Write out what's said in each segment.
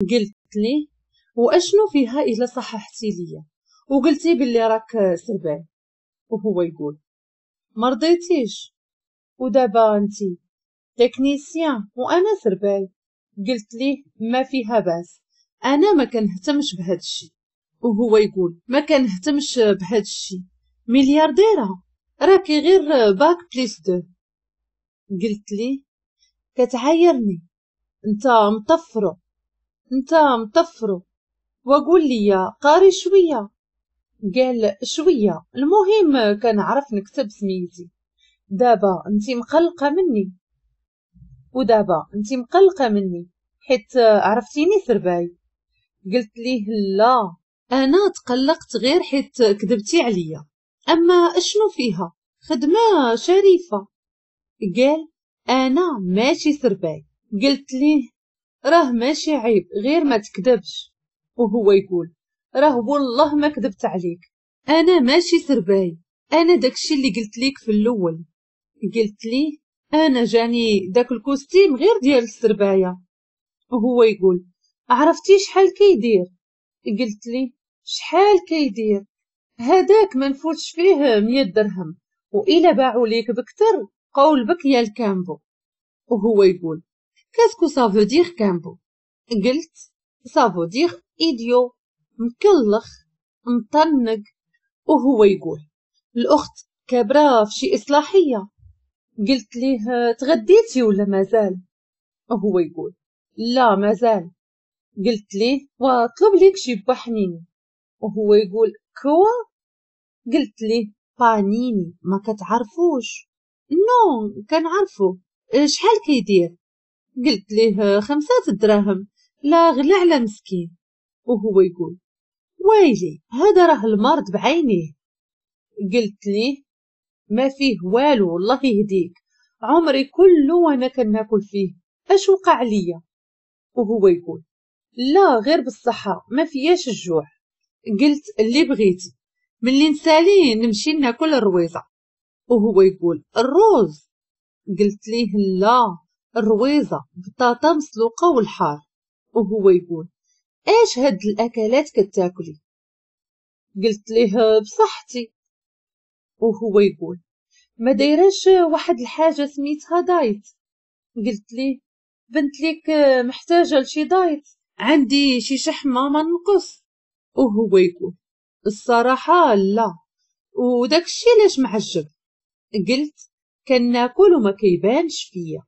قلت ليه واشنو فيها الا صححتي ليا وقلتي باللي راك سرباي؟ وهو يقول ما رضيتيش، ودابا انتي technicien وانا سرباي. قلت ليه ما فيها باس، انا ما كنهتمش بهذا الشيء. وهو يقول ما كنهتمش بهذا الشيء، مليارديره راكي غير bac plus deux. قلت ليه كتعايرني، انت مطفرو، انت مطفرو، وقول لي قاري شويه. قال شويه، المهم كنعرف نكتب سميتي. دابا انت مقلقه مني، ودابا انت مقلقه مني حيت عرفتيني سرباي. قلت ليه لا، انا تقلقت غير حيت كذبتي عليا، اما اشنو فيها خدمه شريفه. قال انا ماشي سرباي. قلت ليه راه ماشي عيب غير ما تكذبش. وهو يقول راه والله ما كذبت عليك، انا ماشي سرباي، انا داكشي اللي قلت ليك في الاول. قلت ليه انا جاني داك ال costume غير ديال السربايه. وهو يقول عرفتي شحال كيدير؟ قلت ليه شحال كيدير؟ هذاك ما نفوتش فيه 100 درهم، وإلا باعوا ليك بكتر قول بك يا الكامبو. وهو يقول qu'est-ce que ça veut dire كامبو؟ قلت ça veut dire idiot، مكلخ مطنق. وهو يقول الاخت كابره في شي اصلاحيه. قلت ليه تغديتي ولا مازال؟ وهو يقول لا مازال. قلت ليه وطلب ليك شي بحنيني. وهو يقول quoi؟ قلت ليه بانيني ما كتعرفوش؟ non كنعرفو، شحال كيدير؟ قلت ليه 5 دراهم، لا غلا على مسكين. وهو يقول ويلي هذا راه المرض بعينيه. قلت ليه ما فيه والو الله يهديك، عمري كله وانا كناكل فيه، اش وقع ليا؟ وهو يقول لا غير بالصحة ما فياش الجوع. قلت اللي بغيتي، ملي نسالي نمشي ناكل الرويزة. وهو يقول الروز؟ قلت ليه لا الرويزة بطاطا مسلوقة والحار. وهو يقول ايش هاد الاكلات كتاكلي؟ قلت ليه بصحتي. وهو يقول ما دايراش واحد الحاجة سميتها diet. قلت ليه بنت ليك محتاجة لشي diet، عندي شي شحمة ما نقص. وهو يقول الصراحة لا، وداك الشي لاش معجب؟ قلت كناكل وما كيبانش فيا.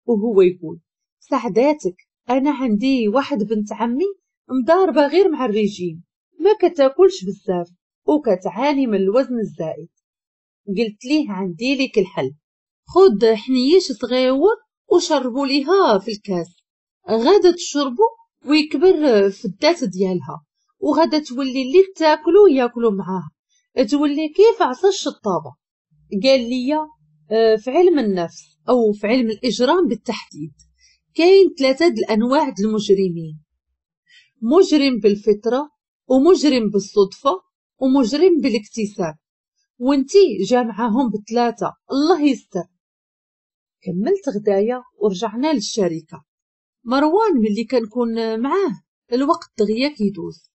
وهو يقول سعداتك، انا عندي واحد بنت عمي مضاربة غير مع الرجيم، ما كتاكلش بزاف وكتعاني من الوزن الزائد. قلت ليه عندي لك الحل، خد حنيش صغيور وشربوا ليها في الكاس، غادا تشربو ويكبر في الذات ديالها، وغادا تولي اللي تاكلو ياكلو معاها، تولي كيف عصا الشطابه. قال لي في علم النفس او في علم الاجرام بالتحديد كاين 3 د الانواع د المجرمين، مجرم بالفطره ومجرم بالصدفه ومجرم بالاكتساب، وانتي جامعاهم ب3، الله يستر. كملت غدايا ورجعنا للشركه. مروان ملي كنكون معاه الوقت دغيا كيدوز.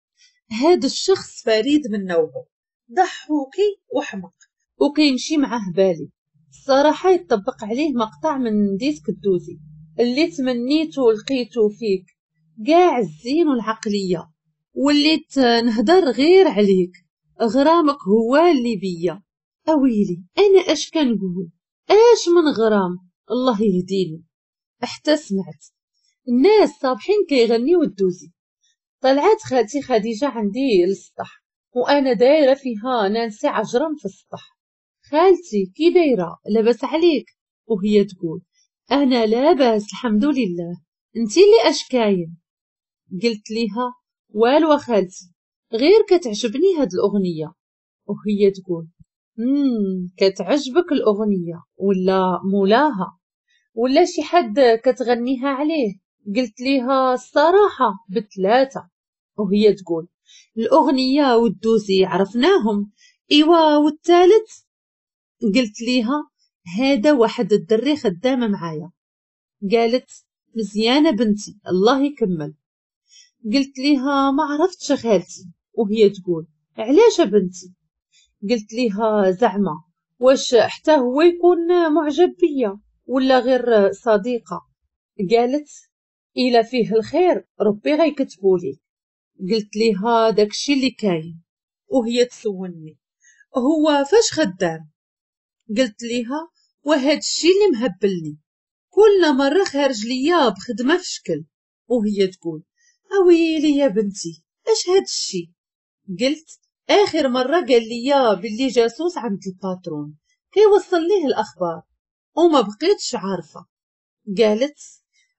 هذا الشخص فريد من نوعه، ضحوكي وحمق وكيمشي معاه بالي. الصراحه يطبق عليه مقطع من disque الدوزي اللي تمنيته ولقيته فيك، كاع الزين والعقليه، وليت نهدر غير عليك، غرامك هو اللي بيا. اويلي انا اش كنقول، اش من غرام، الله يهديني. حتى سمعت الناس صابحين كيغنيو الدوزي. طلعت خالتي خديجه عندي للسطح وانا دايره فيها نانسي عجرم في السطح. خالتي كي دايره لاباس عليك؟ وهي تقول انا لاباس الحمد لله، انتي اللي اش كاين؟ قلت ليها والو خالتي غير كتعجبني هاد الاغنيه. وهي تقول كتعجبك الاغنيه ولا مولاها ولا شي حد كتغنيها عليه؟ قلت ليها الصراحه ب3. وهي تقول الاغنيه والدوزي عرفناهم، ايوا والثالث؟ قلت ليها هذا واحد الدري خدامه معايا. قالت مزيانه بنتي الله يكمل. قلت ليها ما عرفتش خالتي. وهي تقول علاش بنتي؟ قلت ليها زعما واش حتى هو يكون معجب بيا ولا غير صديقة؟ قالت إلا فيه الخير ربي غيكتبولي. قلت ليها داكشي اللي كاين. وهي تسولني هو فاش خدام؟ قلت ليها وهاد الشي اللي مهبلني، كل مرة خارج ليا بخدمة في شكل. وهي تقول اويلي يا بنتي اش هاد الشي؟ قلت اخر مرة قال لي باللي جاسوس عند ال patron كيوصل ليه الاخبار وما بقيتش عارفة. قالت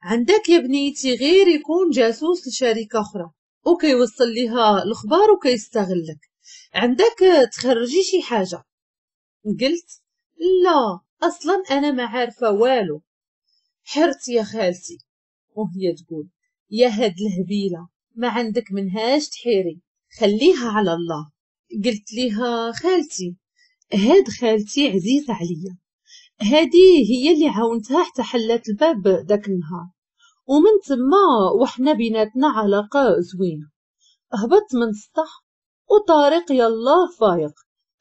عندك يا بنيتي غير يكون جاسوس لشركة اخرى وكيوصل ليها الاخبار وكيستغلك، عندك تخرجي شي حاجة. قلت لا اصلا انا ما عارفة والو، حرت يا خالتي. وهي تقول يا هاد الهبيلة ما عندك منهاش تحيري، خليها على الله. قلت ليها خالتي هاد خالتي عزيزة عليا، هادي هي اللي عاونتها حتى حلات الباب داك النهار، ومن تما وحنا بيناتنا علاقة زوينة. هبطت من السطح وطارق يلاه فايق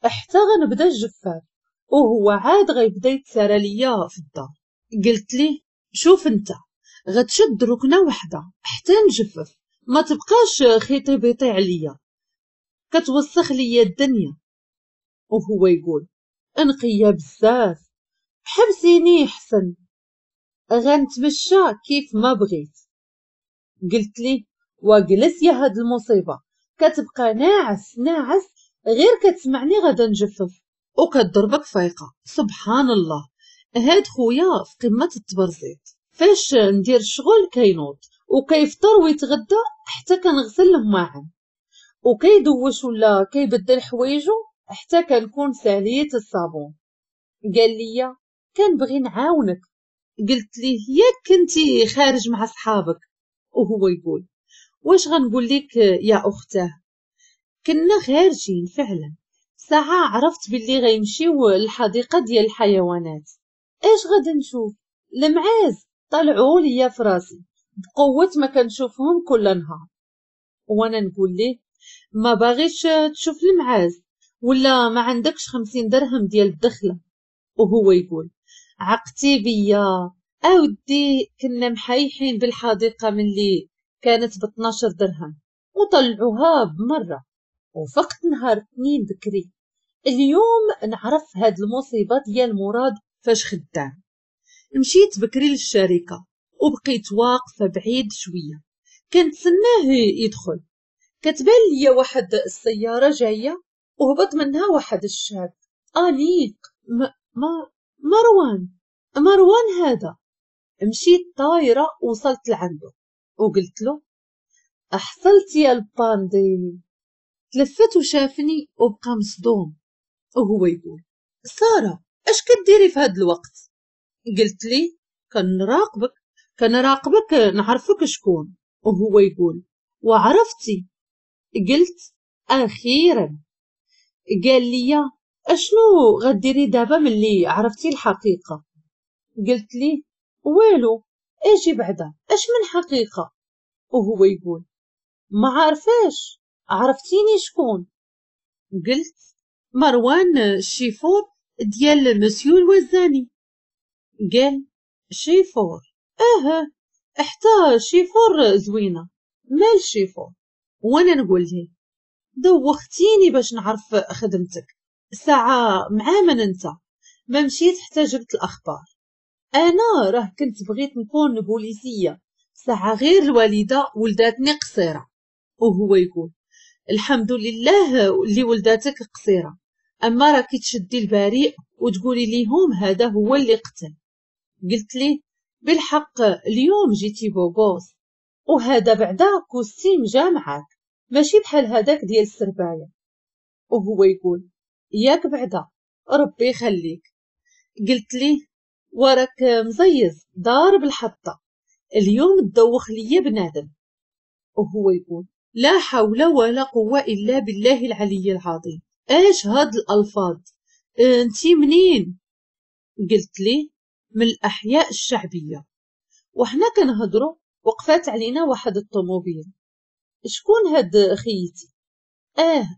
حتى غنبدا الجفاف وهو عاد غيبدا يتسارى ليا في الدار. قلت ليه شوف انت غتشد ركنه وحده حتى نجفف، ما تبقاش خيطي بيطي عليا كتوسخ ليا الدنيا. وهو يقول انقيه بزاف، حبسيني حسن غنتمشى كيف ما بغيت. قلت ليه وجلس يا هاد المصيبه، كتبقى ناعس ناعس غير كتسمعني غادا نجفف وكتضربك فايقه. سبحان الله هاد خويا في قمه التبرزيط، فاش ندير الشغل كينوض وكيفطر ويتغدى حتى كنغسل الماعن، وكيدوش ولا كيبدل حوايجو حتى كنكون ساليت الصابون. قال لي كنبغي نعاونك. قلت ليه ياك كنتي خارج مع صحابك؟ وهو يقول واش غنقول لك يا اختاه، كنا خارجين فعلا. ساعة عرفت باللي غيمشيو للحديقة ديال الحيوانات، اش غادي نشوف؟ المعاز طلعوا ليا في راسي بقوة ما كنشوفهم كل نهار. وانا نقول ليه ما باغيش تشوف المعاز ولا ما عندكش 50 درهم ديال الدخلة؟ وهو يقول عقتي بيا اودي، كنا محيحين بالحديقة ملي كانت ب12 درهم وطلعوها بمرة. وفقت نهار 2 بكري اليوم نعرف هاد المصيبة ديال مراد فاش خدام. مشيت بكري للشركة وبقيت واقفة بعيد شوية كنتسناه يدخل. كتبان ليا واحد السيارة جاية وهبط منها واحد الشاب أنيق ما مروان هذا. مشيت طايرة وصلت لعنده وقلت له أحصلت يا الباندي. تلفت وشافني وبقى مصدوم وهو يقول سارة اش كديري في هاد الوقت؟ قلت لي كنراقبك نعرفك شكون. وهو يقول وعرفتي؟ قلت اخيرا. قال لي اشنو غديري دابا ملي عرفتي الحقيقة؟ قلت لي والو، اجي بعدا اش من حقيقة؟ وهو يقول ما عارفاش، عرفتيني شكون؟ قلت مروان الشيفور ديال مسيو الوزاني. قال شيفور؟ اه حتى شيفور زوينة، مال شيفور؟ وانا نقول ليه دوختيني باش نعرف خدمتك، ساعة مع من انت؟ ما مشيت حتى جبت الاخبار. انا راه كنت بغيت نكون بوليسية، ساعة غير الوالدة ولداتني قصيرة. وهو يقول الحمد لله اللي ولداتك قصيرة، اما راكي تشدي البريء وتقولي ليهم هذا هو اللي قتل. قلت ليه بالحق اليوم جيتي beau gosse، وهذا بعدا costume جا معاك ماشي بحال هذاك ديال السربايه. وهو يقول ياك بعدا ربي يخليك. قلت ليه وراك مزيز ضارب الحطه، اليوم تدوخ ليا بنادم. وهو يقول لا حول ولا قوة إلا بالله العلي العظيم، اش هاد الألفاظ؟ انتي منين؟ قلت ليه من الأحياء الشعبية. وحنا كنهضروا وقفات علينا واحد الطوموبيل، شكون هاد خيتي؟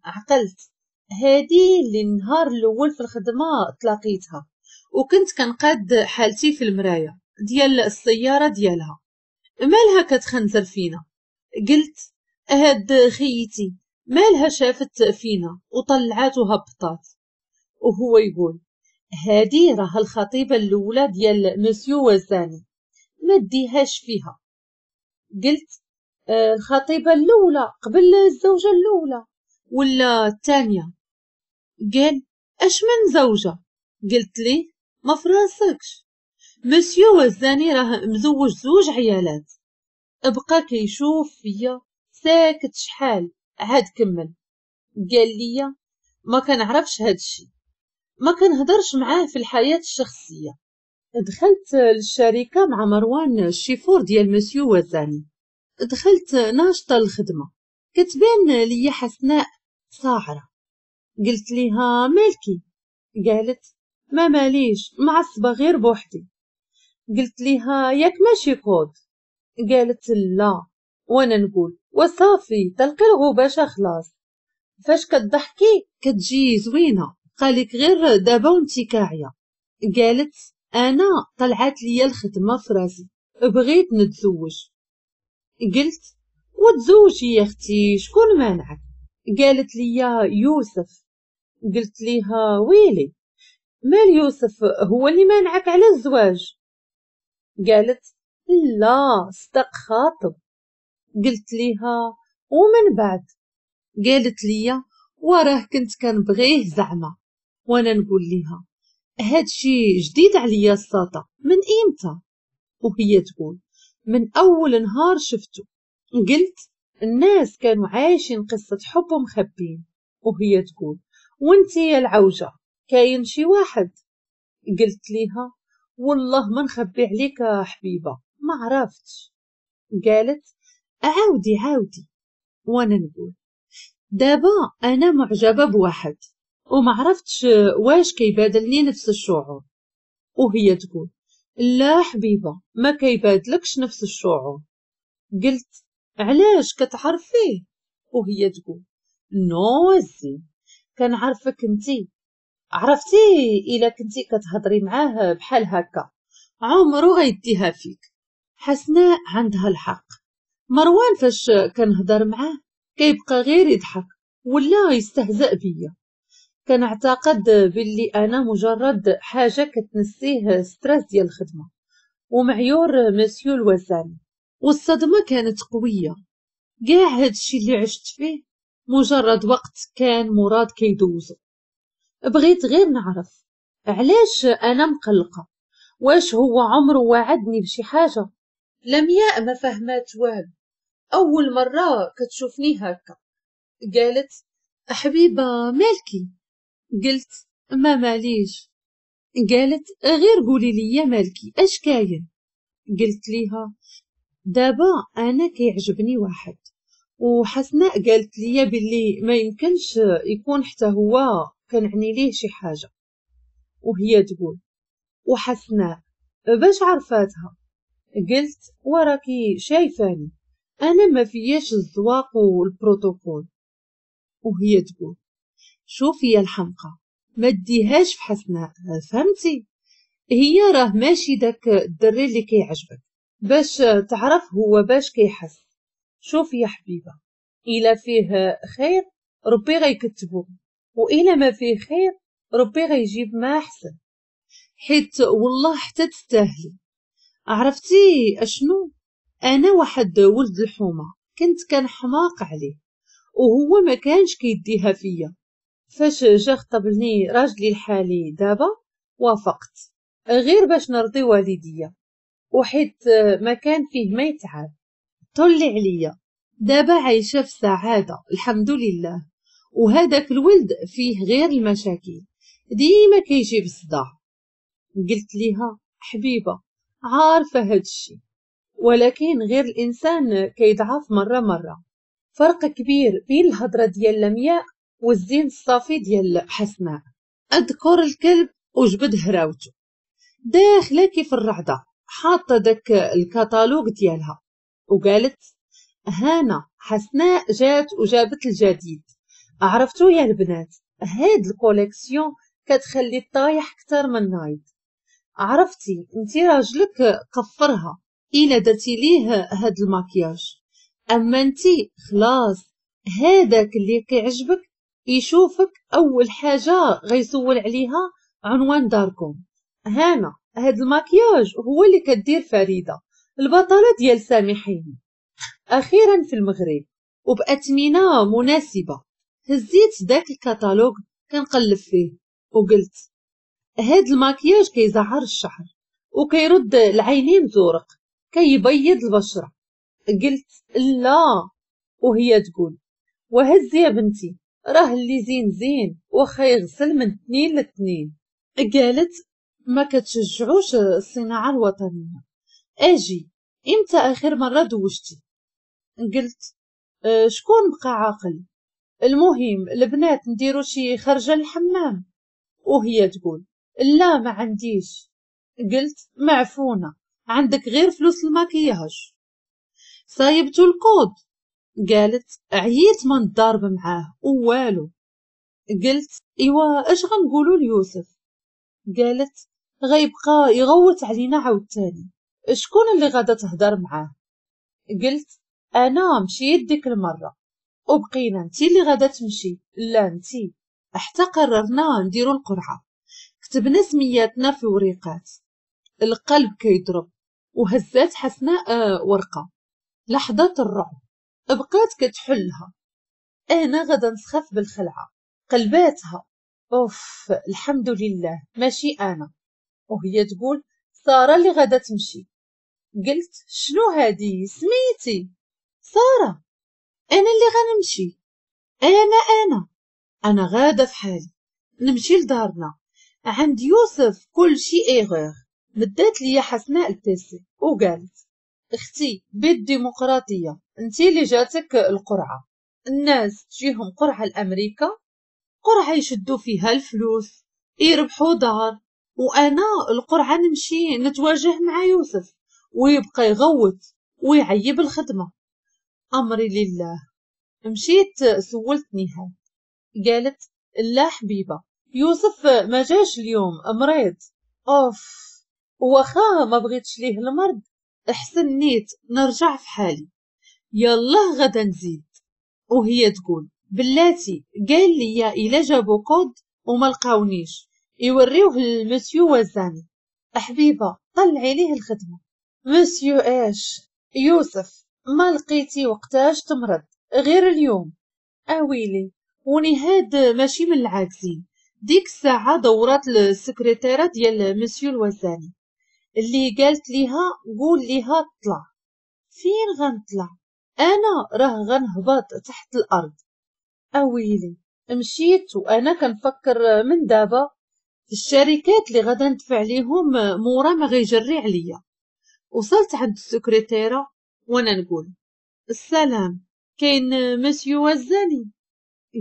عقلت، هادي اللي النهار الاول في الخدمة تلاقيتها وكنت كنقاد حالتي في المراية ديال السيارة ديالها، مالها كتخنزر فينا؟ قلت هاد خيتي مالها شافت فينا وطلعات وهبطات. وهو يقول هادي راه الخطيبه الاولى ديال مسيو وزاني، ما ديهاش فيها. قلت الخطيبه الاولى قبل الزوجة الاولى ولا الثانية؟ قال اش من زوجه؟ قلت ليه ما فراسكش، مسيو وزاني راه مزوج زوج عيالات. بقى كيشوف فيا ساكت شحال، عاد كمل قال لي ما كنعرفش هادشي، ما كنهضرش معاه في الحياة الشخصية. دخلت للشركة مع مروان الشيفور ديال مسيو وزاني، دخلت ناشطة الخدمة، كتبان لي حسناء صاعرة. قلت ليها مالكي؟ قالت ما ماليش، معصبة غير بوحدي. قلت ليها ياك ماشي كود؟ قالت لا. وانا نقول وصافي تلقي الغباشة خلاص، فاش كتضحكي كتجي زوينة، قالك غير دابا وانتي كاعية. قالت انا طلعت لي الخدمة في راسي، بغيت نتزوج. قلت وتزوجي يا اختي، شكون مانعك؟ قالت لي يوسف. قلت ليها ويلي مال يوسف هو اللي مانعك على الزواج؟ قالت لا صدق خاطب. قلت ليها ومن بعد؟ قالت لي وراه كنت كنبغيه زعما. وانا نقول ليها هادشي جديد عليا الساطه، من امتى؟ وهي تقول من اول نهار شفته. قلت الناس كانوا عايشين قصة حب ومخبين. وهي تقول وانتي يا العوجه كاين شي واحد؟ قلت ليها والله ما نخبي عليك حبيبه، ما عرفتش. قالت عاودي عاودي. وانا نقول دابا انا معجبه بواحد وما عرفتش واش كيبادلني نفس الشعور. وهي تقول لا حبيبه ما كيبادلكش نفس الشعور. قلت علاش كتعرفيه؟ وهي تقول non الزين كنعرفك انتي، عرفتي الا كنتي كتهضري معاه بحال هكا عمرو غيديها فيك. حسناء عندها الحق، مروان فاش كنهضر معاه كيبقى غير يضحك ولا يستهزأ بيا. كنعتقد باللي انا مجرد حاجة كتنسيه stress ديال الخدمة ومعيور مسيو الوزاني. والصدمه كانت قوية، كاع هادشي اللي عشت فيه مجرد وقت كان مراد كيدوزو. بغيت غير نعرف علاش انا مقلقة، واش هو عمره وعدني بشي حاجة؟ لمياء ما فهمات والو، اول مرة كتشوفني هكا. قالت حبيبه مالكي؟ قلت ما ماليش. قالت غير قولي لي مالكي اش كاين؟ قلت ليها دابا انا كيعجبني واحد، وحسناء قالت لي باللي ما يمكنش يكون حتى هو كنعني ليه شي حاجة. وهي تقول وحسناء باش عرفاتها؟ قلت وراكي شايفاني انا ما فياش الزواق والبروتوكول. وهي تقول شوفي يا الحمقى ما ديهاش في حسناء، فهمتي؟ هي راه ماشي داك الدري اللي كيعجبك باش تعرف هو باش كيحس. شوفي يا حبيبه الا فيه خير ربي غيكتبو، والا ما فيه خير ربي غيجيب ما احسن، حيت والله حتى تستاهلي. عرفتي اشنو؟ انا واحد ولد الحومه كنت كنحماق عليه وهو ما كانش كيديها فيا. فاش جا خطبني راجلي الحالي دابا وافقت غير باش نرضي والديا، وحيت ما كان فيه ما يتعب طلي عليا. دابا عايشه في سعادة الحمد لله، وهذاك الولد فيه غير المشاكل ديما كيجيب الصداع. قلت ليها حبيبه عارفه هادشي، ولكن غير الانسان كيضعف مرة مرة. فرق كبير بين الهضرة ديال لمياء والزين الصافي ديال حسناء. اذكر الكلب وجبد هراوته داخله كيف الرعده، حاطه داك الكتالوج ديالها، وقالت هانا حسناء جات وجابت الجديد. عرفتو يا البنات، هاد ال collection كتخلي الطايح اكثر من نايض. عرفتي انتي راجلك قفرها الا درتي ليه هاد الماكياج، اما انتي خلاص هذاك اللي كيعجبك يشوفك اول حاجة غيسول عليها عنوان داركم. هانا هاد الماكياج هو اللي كدير فريدة البطلة ديال سامحيني. اخيرا في المغرب وباثمنه مناسبة. هزيت داك الكتالوج كنقلب فيه وقلت هاد الماكياج كيزعر الشعر وكيرد العينين زورق، كيبيض البشرة. قلت لا، وهي تقول وهز يا بنتي راه اللي زين زين واخا يغسل من 2 ل2. قالت ما كتشجعوش الصناعة الوطنية. اجي امتى اخر مرة دوشتي؟ قلت شكون بقى عاقل؟ المهم البنات نديرو شي خرجه للحمام. وهي تقول لا ما عنديش. قلت معفونه، عندك غير فلوس الماكياج. صايبتو الكود؟ قالت عييت ما نضارب معاه ووالو. قلت ايوا اش غنقولوا ليوسف؟ قالت غيبقى يغوت علينا عاوتاني، شكون اللي غادا تهضر معاه؟ قلت انا مشيت ديك المرة وبقينا انتي اللي غادا تمشي، لا انتي. حتى قررنا نديرو القرعة، كتبنا سمياتنا في وريقات. القلب كيضرب، وهزات حسناء ورقة. لحظة الرعب بقات كتحلها، انا غادا نسخف بالخلعه. قلباتها، اوف الحمد لله ماشي انا. وهي تقول ساره اللي غادا تمشي. قلت شنو هادي سميتي؟ ساره، انا اللي غنمشي، انا انا انا غاده في حالي نمشي لدارنا عند يوسف، كل شي erreur. مدات ليا حسناء ال PC وقالت اختي بالديمقراطية انتي اللي جاتك القرعة، الناس تجيهم قرعه لامريكا، قرعه يشدوا فيها الفلوس يربحوا دار، وانا القرعة نمشي نتواجه مع يوسف ويبقى يغوت ويعيب الخدمة. امري لله. مشيت سولت نهاد، قالت لا حبيبه يوسف ما جاش اليوم مريض. اوف، واخا ما بغيتش ليه المرض احسن نيت نرجع في حالي، يلا غدا نزيد. وهي تقول بلاتي قال لي الا جابو كود وما لقاونيش يوريوه للمسيو وزاني. حبيبه طلعي ليه الخدمة. مسيو اش؟ يوسف ما لقيتي وقتاش تمرض غير اليوم. اويلي، ونهاد ماشي من العاكسين. ديك الساعة دورات السكرتيره ديال مسيو الوزاني اللي قالت ليها قول ليها طلع. فين غنطلع انا؟ راه غنهبط تحت الارض. اويلي، مشيت وانا كنفكر من دابا في الشركات اللي غادا ندفع ليهم مورا ما غيجري عليا. وصلت عند السكرتيره وانا نقول السلام، كاين مسيو وزاني؟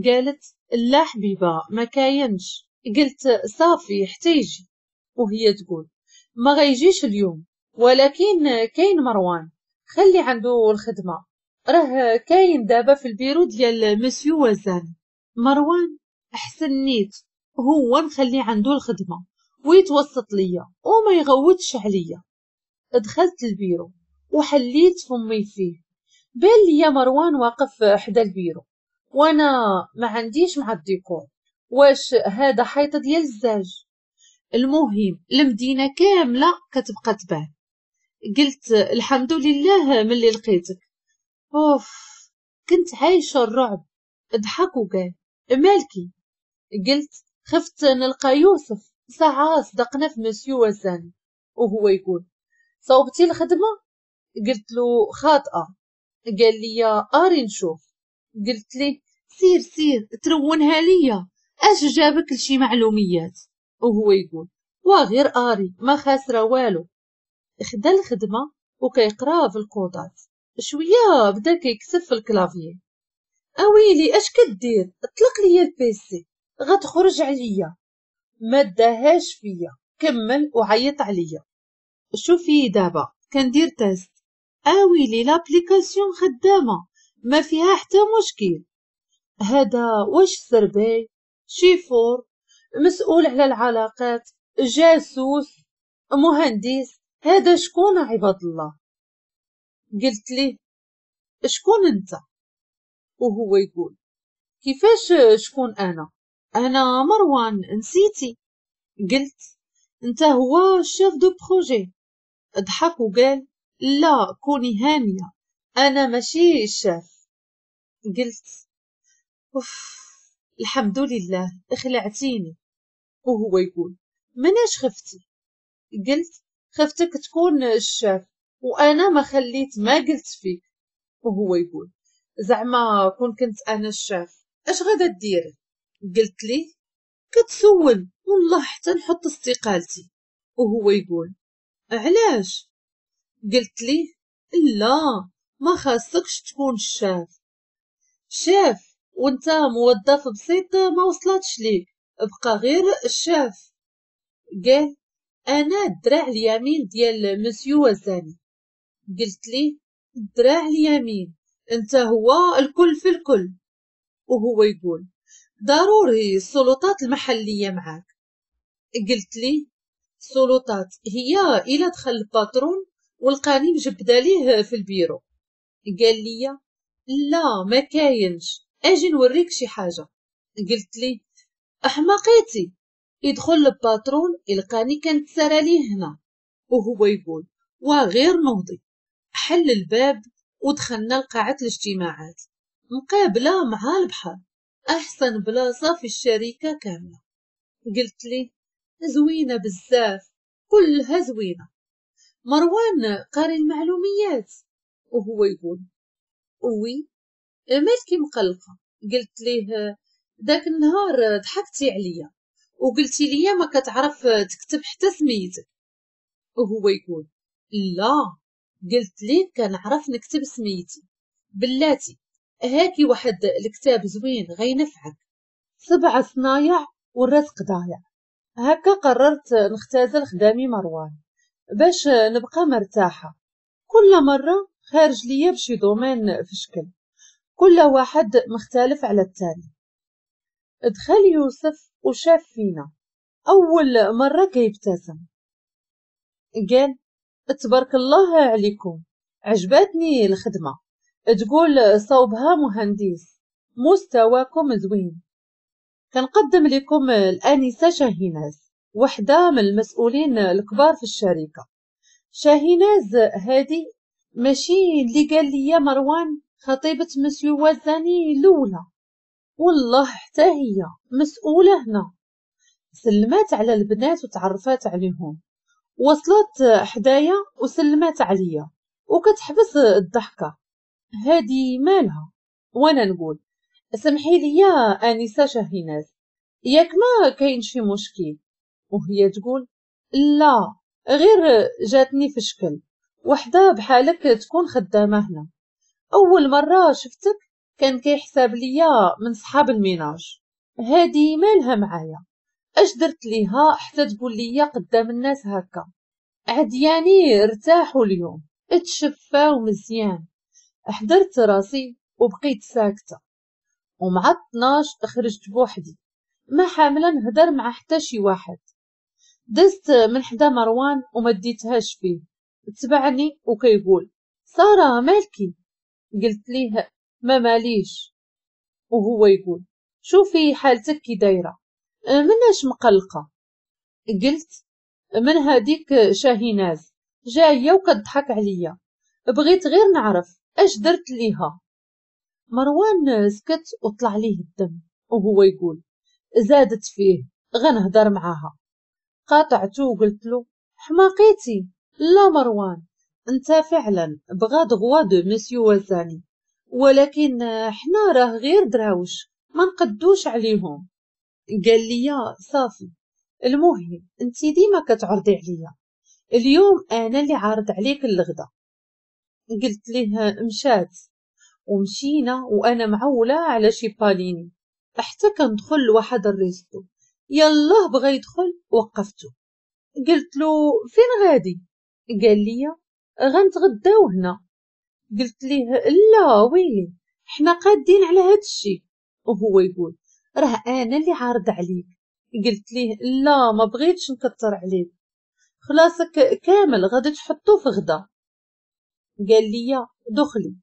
قالت لا حبيبه ما كاينش. قلت صافي حتى يجي. وهي تقول ما غيجيش اليوم، ولكن كاين مروان خلي عنده الخدمة، راه كاين دابا في البيرو ديال مسيو وزاني. مروان احسن نيت هو نخلي عنده الخدمة ويتوسط ليا وما يغوتش عليا. دخلت البيرو وحليت فمي فيه، بان ليا مروان واقف حدا البيرو وانا ما عنديش مع الديكور، واش هذا حيط ديال الزاج؟ المهم المدينة كاملة كتبقى تبان. قلت الحمد لله ملي لقيتك. اوف، كنت عايشه الرعب. ضحك وقال مالكي؟ قلت خفت نلقى يوسف، ساعة صدقنا في مسيو وزاني. وهو يقول صوبتي الخدمة؟ قلت له خاطئه. قال لي اري نشوف. قلت ليه سير سير ترونها ليا، اش جابك لشي معلوميات؟ وهو يقول وغير اري ما خاسرة والو. خدا الخدمة وكيقرا في الكودات، شوية بدا كيكتب في ال clavier. اويلي اش كدير؟ اطلق ليا ال PC غتخرج عليا. ما داهاش فيا، كمل وعيط عليا. شوفي دابا كندير test، اويلي l'application خدامه ما فيها حتى مشكل. هذا واش سرباي، شيفور، مسؤول على العلاقات، جاسوس، مهندس، هذا شكون عباد الله؟ قلت ليه شكون انت؟ وهو يقول كيفاش شكون انا؟ انا مروان، نسيتي؟ قلت انت هو ال chef de projet. ضحك وقال لا كوني هانيه، انا ماشي الشاف. قلت اوف الحمد لله خلعتيني. وهو يقول مناش خفتي؟ قلت خفتك تكون الشاف وانا ما خليت ما قلت فيك. وهو يقول زعما كون كنت انا الشاف اش غادا ديري؟ قلت ليه كتسول والله حتى نحط استقالتي. وهو يقول علاش؟ قلت ليه لا ما خاصكش تكون ال chef، chef وانت موظف بسيط ما وصلتش ليك، بقى غير الشاف. قال انا الدراع اليمين ديال مسيو وزاني. قلت ليه الدراع اليمين انت هو الكل في الكل. وهو يقول ضروري السلطات المحلية معاك. قلت ليه السلطات هي إلا دخل ال patron ولقاني مجبده ليه في البيرو. قال لي لا ما كاينش، اجي نوريك شي حاجة. قلت ليه احمقيتي، يدخل ال patron يلقاني كنتسرى ليه هنا. وهو يقول وغير نوضي. حل الباب ودخلنا لقاعة الاجتماعات مقابلة مع البحر، أحسن بلاصة في الشركة كاملة. قلت لي زوينة بزاف، كلها زوينة. مروان قاري المعلوميات. وهو يقول oui مالكي مقلقة؟ قلت ليه داك النهار ضحكتي عليا وقلتي لي ما كتعرف تكتب حتى سميتك. وهو يقول لا، قلت ليه كنعرف نكتب سميتي، بلاتي هاكي واحد الكتاب زوين غينفعك، 7 صنايع والرزق ضايع. هكا قررت نختزل خدامي مروان باش نبقى مرتاحة. كل مرة خارج ليا بشي domaine في شكل، كل واحد مختلف على الثاني. دخل يوسف وشاف فينا أول مرة كيبتسم، قال تبارك الله عليكم، عجبتني الخدمة، تقول صوبها مهندس، مستواكم زوين. كنقدم لكم الآنسة شاهيناز، وحدة من المسؤولين الكبار في الشركة. شاهيناز هادي ماشي اللي قال لي مروان خطيبة مسيو وزاني الأولى، والله حتى هي مسؤولة هنا. سلمات على البنات وتعرفات عليهم، وصلت حدايا وسلمات عليا وكتحبس الضحكة. هادي مالها؟ وانا نقول سمحي لي يا انسه شاهيناز، ياك ما كاين شي مشكل؟ وهي تقول لا غير جاتني في شكل وحده بحالك تكون خدامه هنا. اول مرة شفتك كان كيحسب ليا من صحاب ال ménage. هادي مالها معايا؟ اش درت ليها حتى تقول ليا قدام الناس هكا؟ عدياني ارتاحوا اليوم، اتشفاو مزيان. حضرت راسي وبقيت ساكته، ومع 12 خرجت بوحدي ما حامله نهدر مع حتى شي واحد. دزت من حدا مروان وما ديتهاش فيه، تبعني وكيقول ساره مالكي؟ قلت ليه ما ماليش. وهو يقول شوفي حالتك كي دايرة، مناش مقلقة؟ قلت من هذيك شاهيناز جاية وكتضحك عليا، بغيت غير نعرف اش درت ليها. مروان سكت وطلع ليه الدم وهو يقول زادت فيه غنهدر معاها. قاطعته وقلت له حماقيتي؟ لا مروان انت فعلا bras droit de monsieur وزاني، ولكن حنا راه غير دراوش ما نقدوش عليهم. قال لي صافي، المهم انت ديما كتعرضي عليا، اليوم انا اللي عارض عليك الغدا. قلت ليه مشات، ومشينا وانا معوله على شي باليني حتى كندخل لواحد ال resto. يلاه بغى يدخل وقفته، قلت له فين غادي؟ قال لي غنتغداو هنا. قلت ليه لا ويلي حنا قادين على هاد الشيء. وهو يقول راه انا اللي عارض عليك. قلت ليه لا ما بغيتش نكثر عليك، خلاصك كامل غادي تحطو في غدا. قال لي دخلي،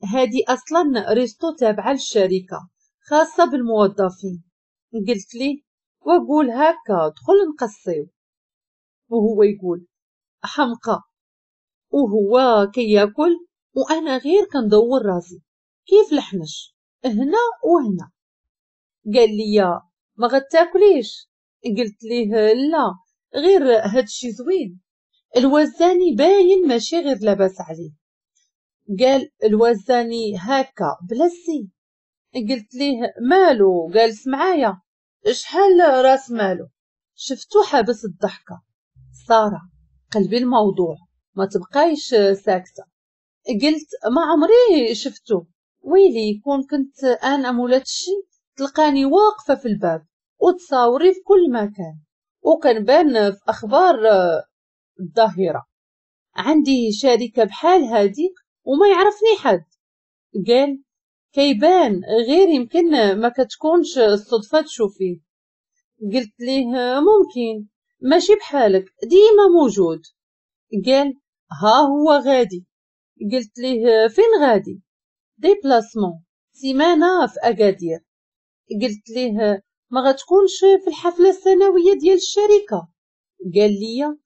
هادي اصلا resto تابعه للشركة خاصة بالموظفين. قلت ليه وقول هكا دخل نقصيو. وهو يقول حمقى، وهو كياكل وانا غير كندور راسي كيف الحنش هنا وهنا. قال لي ما غتاكليش؟ قلت ليه لا غير هادشي زوين. الوزاني باين ماشي غير لاباس عليه. قال الوزاني هكا بلسي. قلت ليه مالو جالس معايا شحال راس مالو؟ شفتو حابس الضحكة. ساره قلبي الموضوع ما تبقايش ساكته. قلت ما عمري شفتو، ويلي كون كنت انا مولات الشي تلقاني واقفة في الباب وتصاوري في كل مكان وكنبان في اخبار الظاهرة. عندي شركة بحال هاديك وما يعرفني حد. قال كيبان غير يمكن ما كتكونش الصدفة تشوفيه. قلت ليه ممكن ماشي بحالك ديما موجود. قال ها هو غادي. قلت ليه فين غادي؟ déplacement سيمانه في اكادير. قلت ليه ما غتكونش في الحفلة السنوية ديال الشركة؟ قال لي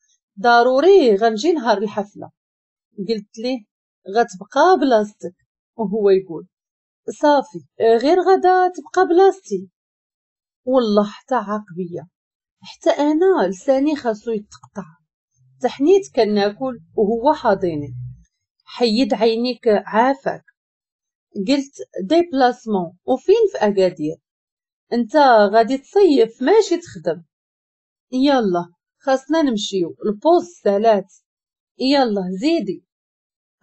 ضروري غنجي نهار الحفلة. قلت ليه غتبقى بلاصتك. وهو يقول صافي غير غدا تبقى بلاصتي. والله حتى عاقبيه، حتى انا لساني خاصو يتقطع. تحنيت كناكل وهو حاضيني. حيد عينيك عافاك. قلت déplacement وفين في اكادير؟ انت غادي تصيف ماشي تخدم. يلا خاصنا نمشيو ال pause سالات، يلا زيدي.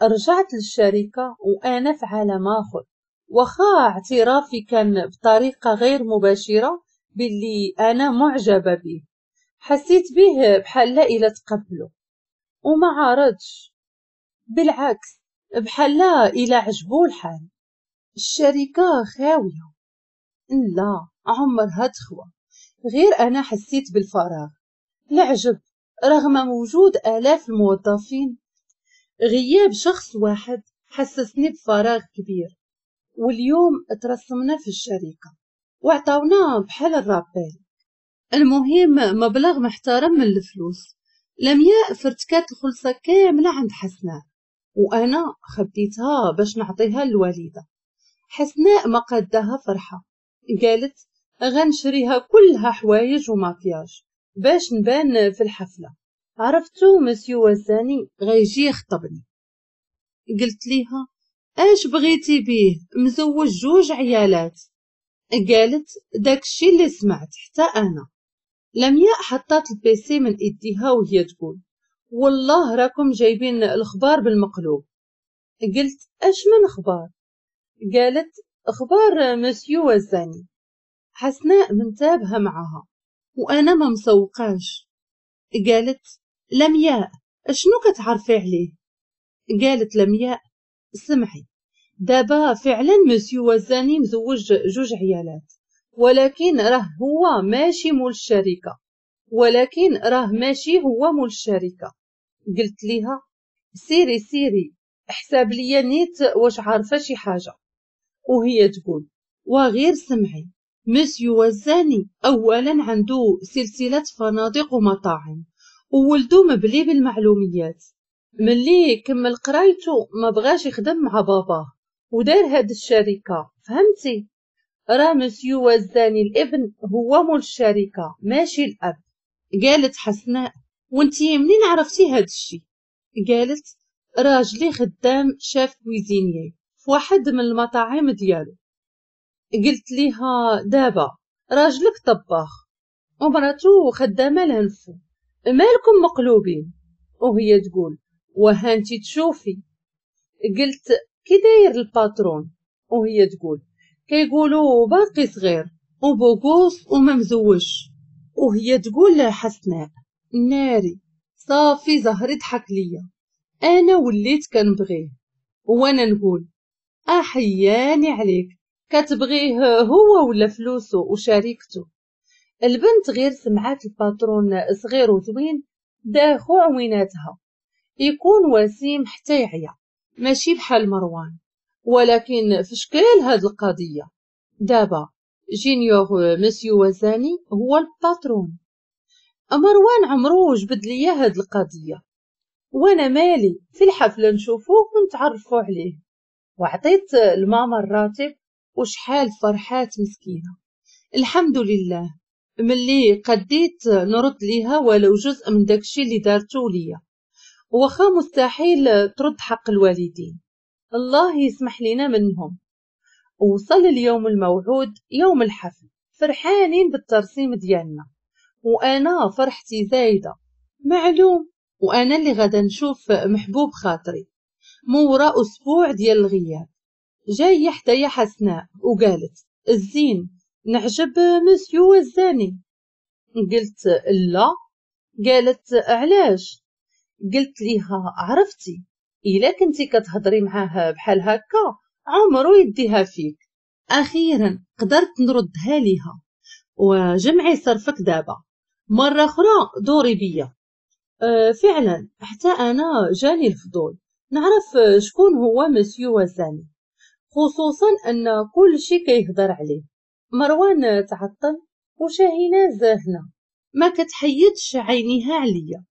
رجعت للشركة وانا في عالم اخر، واخا اعترافي كان بطريقة غير مباشرة باللي انا معجبه به. حسيت به بحال لا الا تقبله وما عارضش، بالعكس بحال لا الا عجبو الحال. الشركة خاوية، لا عمرها تخوى، غير انا حسيت بالفراغ. العجب رغم وجود الاف الموظفين، غياب شخص واحد حسسني بفراغ كبير. واليوم ترسمنا في الشركة وعطاونا بحال ال rappel. المهم مبلغ محترم من الفلوس. لمياء فرتكات الخلصة كاملة عند حسناء، وانا خبيتها باش نعطيها للوالده. حسناء ما قادها فرحه، قالت غنشريها كلها حوايج وماكياج باش نبان في الحفلة. عرفتو مسيو وزاني غيجي يخطبني. قلت ليها اش بغيتي بيه مزوج جوج عيالات؟ قالت داكشي اللي سمعت حتى انا. لمياء حطات ال PC من ايديها وهي تقول والله راكم جايبين الخبار بالمقلوب. قلت اش من اخبار؟ قالت اخبار مسيو وزاني. حسناء منتابهه معها وانا ما مسوقاش. قالت لمياء اشنو كتعرفي عليه؟ قالت لمياء سمعي دابا فعلا مسيو وزاني مزوج جوج عيالات، ولكن راه هو ماشي مول الشركة، ولكن راه ماشي هو مول الشركة. قلت ليها سيري سيري حساب ليا نيت واش عارفه شي حاجة. وهي تقول وغير سمعي مسيو وزاني اولا عنده سلسلة فنادق ومطاعم، وولدو مبلي بالمعلوميات، ملي كمل قرايته ما بغاش يخدم مع باباه ودار هاد الشركة، فهمتي؟ راه مسيو وزاني الابن هو مول الشركة ماشي الاب. قالت حسناء وانتي منين عرفتي هاد الشي؟ قالت راجلي خدام chef cuisinier في واحد من المطاعم ديالو. قلت ليها دابا راجلك طباخ ومراتو خدامه لهنفو، مالكم مقلوبين؟ وهي تقول وهانتي تشوفي. قلت كي داير ال patron؟ وهي تقول كيقولوا باقي صغير و beau gosse وما مزوج. وهي تقول حسناء ناري صافي زهري ضحك ليا، انا وليت كنبغيه. وانا نقول احياني عليك، كتبغيه هو ولا فلوسه وشريكته؟ البنت غير سمعات ال patron صغير وزوين داخو عويناتها، يكون وسيم حتى يعيا، ماشي بحال مروان. ولكن في شكل هاد القضية دابا j'ignore monsieur وزاني هو ال patron. مروان عمرو جبد ليا هاد القضية، وانا مالي، في الحفلة نشوفوه ونتعرفوا عليه. وعطيت الماما الراتب وشحال فرحات مسكينة. الحمد لله ملي قديت نرد ليها ولو جزء من داكشي اللي دارتو ليا، واخا مستحيل ترد حق الوالدين، الله يسمح لنا منهم. وصل اليوم الموعود، يوم الحفل، فرحانين بالترسيم ديالنا، وانا فرحتي زايدة معلوم، وانا اللي غادا نشوف محبوب خاطري مورا اسبوع ديال الغياب. جاية حدايا حسناء وقالت الزين نعجب مسيو وزاني. قلت لا. قالت علاش؟ قلت ليها عرفتي الا كنتي كتهضري معاه بحال هكا عمرو يديها فيك. اخيرا قدرت نردها ليها. وجمعي صرفك دابا، مرة اخرى دوري بيا. فعلا حتى انا جاني الفضول نعرف شكون هو مسيو وزاني، خصوصا ان كل شي كيهضر عليه. مروان تعطل وشاهيناز هنا ما كتحيدش عينيها عليا.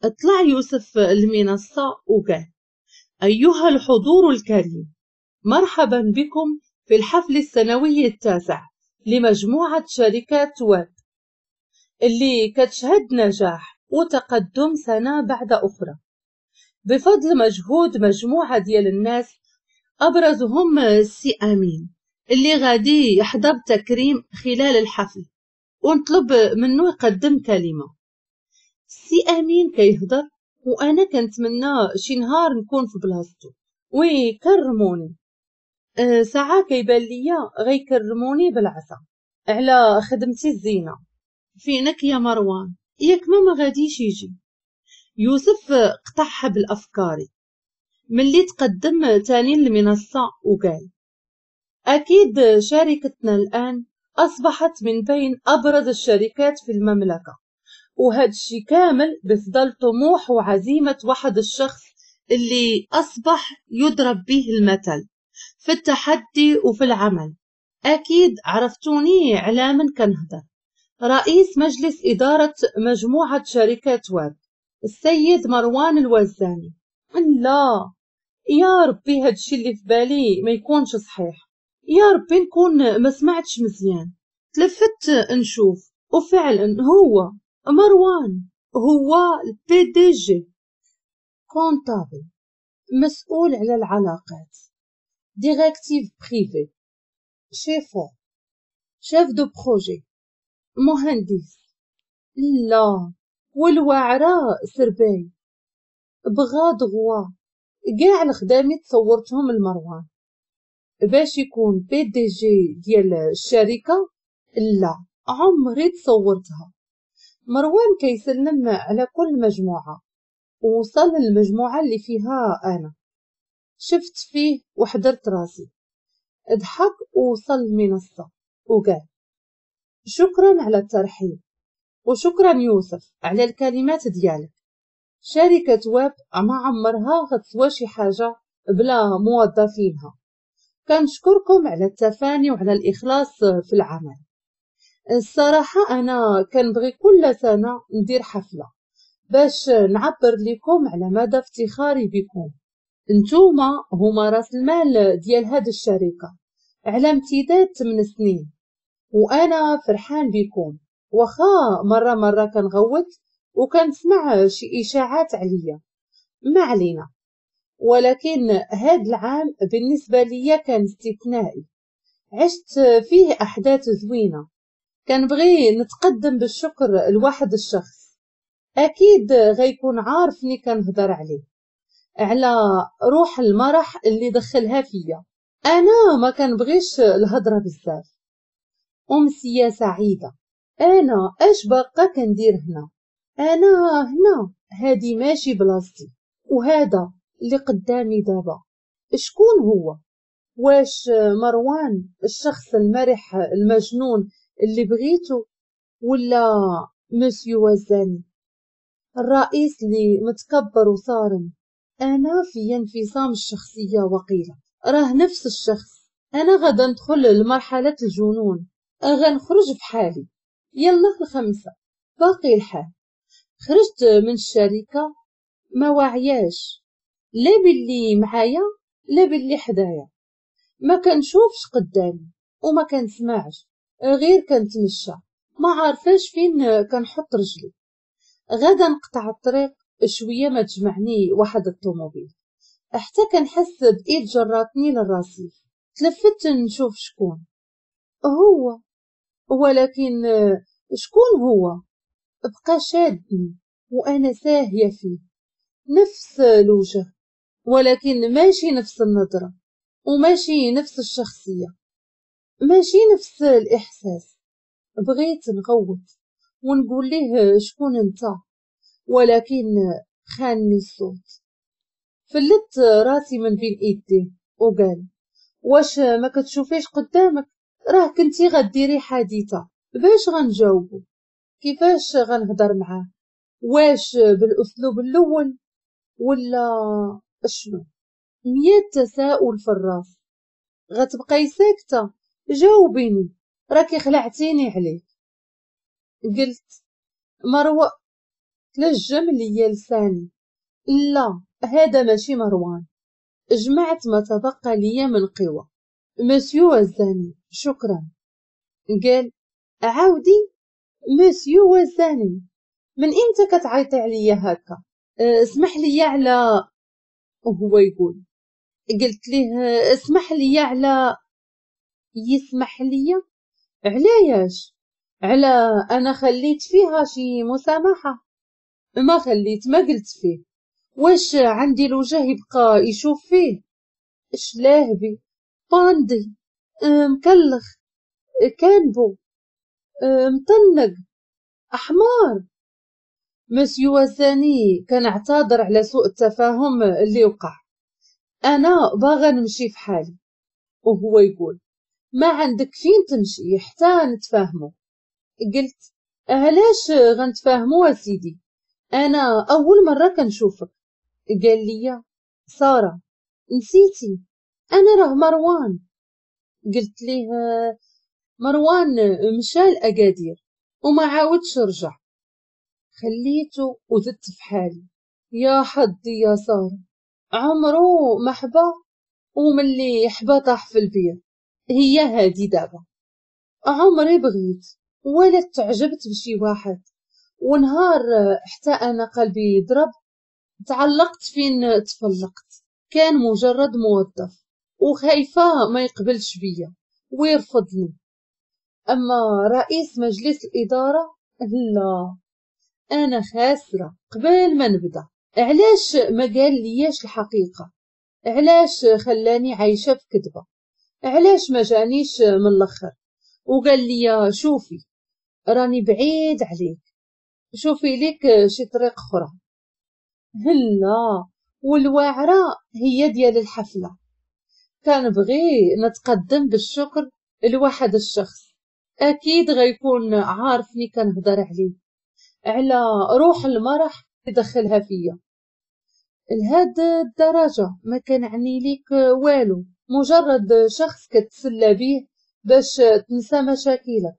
اطلع يوسف المنصة وقال أيها الحضور الكريم، مرحبا بكم في الحفل السنوي التاسع لمجموعة شركات ويب اللي كتشهد نجاح وتقدم سنة بعد أخرى بفضل مجهود مجموعة ديال الناس، أبرزهم السي أمين اللي غادي يحظى بتكريم خلال الحفل ونطلب منه يقدم كلمة. السي أمين كيهضر وأنا كنتمنى شي نهار نكون في بلاصتو ويكرموني. ساعة كيبان ليا غيكرموني بالعصا على خدمتي الزينة. فينك يا مروان؟ ياك ما غاديش يجي. يوسف قطعها بالأفكار ملي تقدم تاني للمنصة وقال أكيد شركتنا الآن أصبحت من بين أبرز الشركات في المملكة، وهذا الشيء كامل بفضل طموح وعزيمة واحد الشخص اللي أصبح يضرب به المثل في التحدي وفي العمل. أكيد عرفتوني على من كنهضر، رئيس مجلس إدارة مجموعة شركات واب السيد مروان الوزاني. لا يا ربي هادشي اللي في بالي ما يكونش صحيح، يا ربي نكون ما سمعتش مزيان. تلفت نشوف وفعلا هو مروان، هو ال PDG، comptable، مسؤول على العلاقات، détective privé، chauffeur، chef de projet، مهندس، لا والواعرة سرباي، bras droit. كاع الخدامي تصورتهم المروان باش يكون PDG ديال الشركة، لا عمري تصورتها. مروان كيسلم على كل مجموعة ووصل للمجموعة اللي فيها أنا. شفت فيه وحضرت راسي، ضحك ووصل المنصة وقال شكرا على الترحيب وشكرا يوسف على الكلمات ديالك. شركة واب ما عمرها غتسوى شي حاجة بلا موظفينها. كنشكركم على التفاني وعلى الإخلاص في العمل. الصراحة أنا كنبغي كل سنة ندير حفلة باش نعبر لكم على مدى افتخاري بكم. نتوما هما راس المال ديال هاد الشركة على امتداد 8 سنين، وأنا فرحان بكم. واخا مرة مرة كنغوت وكنسمع شي إشاعات عليا، ما علينا، ولكن هاد العام بالنسبة ليا كان استثنائي، عشت فيه أحداث زوينة. كنبغي نتقدم بالشكر لواحد الشخص أكيد غيكون عارفني كنهضر عليه، على روح المرح اللي دخلها فيا. أنا ما كنبغيش الهضرة بزاف. أمسية سعيدة. أنا أش باقا كندير هنا؟ أنا هنا هادي ماشي بلاصتي، وهذا اللي قدامي دابا شكون هو؟ واش مروان الشخص المرح المجنون اللي بغيته، ولا مسيو وزاني الرئيس اللي متكبر وصارم؟ انا في انفصام الشخصية وقيله راه نفس الشخص. انا غادا ندخل لمرحلة الجنون، غنخرج بحالي. يلا 5 باقي الحال. خرجت من الشركة ما واعياش، لا باللي معايا لا باللي حدايا، ما كنشوفش قدامي وما كنسمعش، غير كنتمشى ما عارفاش فين كنحط رجلي. غادا نقطع الطريق شوية ما تجمعني واحد الطوموبيل، حتى كنحس بايد جراتني للرصيف. تلفت نشوف شكون هو، ولكن شكون هو؟ بقى شادني وانا ساهيه فيه، نفس الوجه ولكن ماشي نفس النظرة، وماشي نفس الشخصية، ماشي نفس الاحساس. بغيت نغوت ونقول ليه شكون انت، ولكن خانني الصوت. فلت راسي من بين ايديه وقال واش ما كتشوفيش قدامك؟ راه كنتي غديري حادثه. باش غنجاوبو؟ كيفاش غنهضر معاه؟ واش بالاسلوب الاول ولا شنو؟ 100 تساؤل في الراس. غتبقاي ساكته؟ جاوبيني، راكي خلعتيني عليك. قلت مروه، تلجم ليا لساني، لا هذا ماشي مروان. جمعت ما تبقى ليا من قوة. مسيو وزاني شكرا. قال عاودي مسيو وزاني، من امتى كتعيطي عليا هكا؟ اسمح لي على، وهو يقول. قلت ليه اسمح لي على، يسمح لي علاش؟ على انا خليت فيها شي مسامحة؟ ما خليت، ما قلت فيه. واش عندي الوجه يبقى يشوف فيه؟ شلاهبي، باندي، مكلخ، كانبو، مطنق، احمار. مسيو وزاني كنعتذر على سوء التفاهم اللي وقع، انا باغا نمشي في حالي. وهو يقول ما عندك فين تمشي حتى نتفاهمو. قلت علاش غنتفاهمو اسيدي؟ انا اول مرة كنشوفك. قال لي ساره نسيتي انا راه مروان. قلت ليه مروان مشى لاكادير وما عاودش رجع. خليته وزدت في حالي. يا حظي يا ساره، عمرو ما حبا، وملي حبا طاح في البير. هي هادي دابا. عمري بغيت ولا تعجبت بشي واحد، ونهار حتى انا قلبي ضرب تعلقت فين تفلقت. كان مجرد موظف وخايفة ما يقبلش بيا ويرفضني. اما رئيس مجلس الادارة لا، انا خاسرة قبل ما نبدا. علاش ما قال لياش الحقيقة؟ علاش خلاني عايشه في كذبه؟ علاش ما جانيش من الاخر وقال لي شوفي راني بعيد عليك، شوفي ليك شي طريق اخرى؟ هلا والواعره هي ديال الحفلة. كان بغي نتقدم بالشكر لواحد الشخص اكيد غيكون عارفني كنهضر عليه، على روح المرح يدخلها فيا. لهاد الدرجة ما كنعني ليك والو، مجرد شخص كتسلى بيه باش تنسى مشاكلك،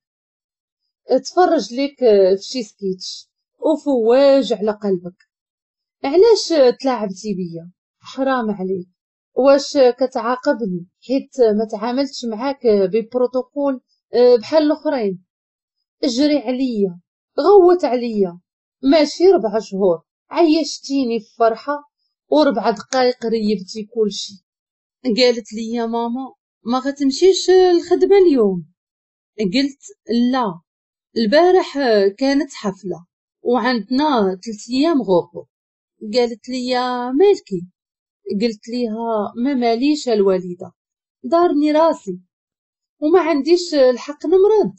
تفرج ليك في شي سكيتش وفواج على قلبك. علاش تلاعبتي بيا؟ حرام عليك. واش كتعاقبني حيت ما تعاملتش معاك ببروتوكول بحال الاخرين؟ اجري عليا، غوت عليا، ماشي 4 شهور عيشتيني في فرحه و4 دقائق ريبتي كلشي. قالت لي يا ماما ما غتمشيش الخدمة اليوم؟ قلت لا، البارح كانت حفلة وعندنا 3 ايام غوبو. قالت لي مالكي؟ قلت ليها ما ماليش الوالدة، دارني راسي وما عنديش الحق نمرض.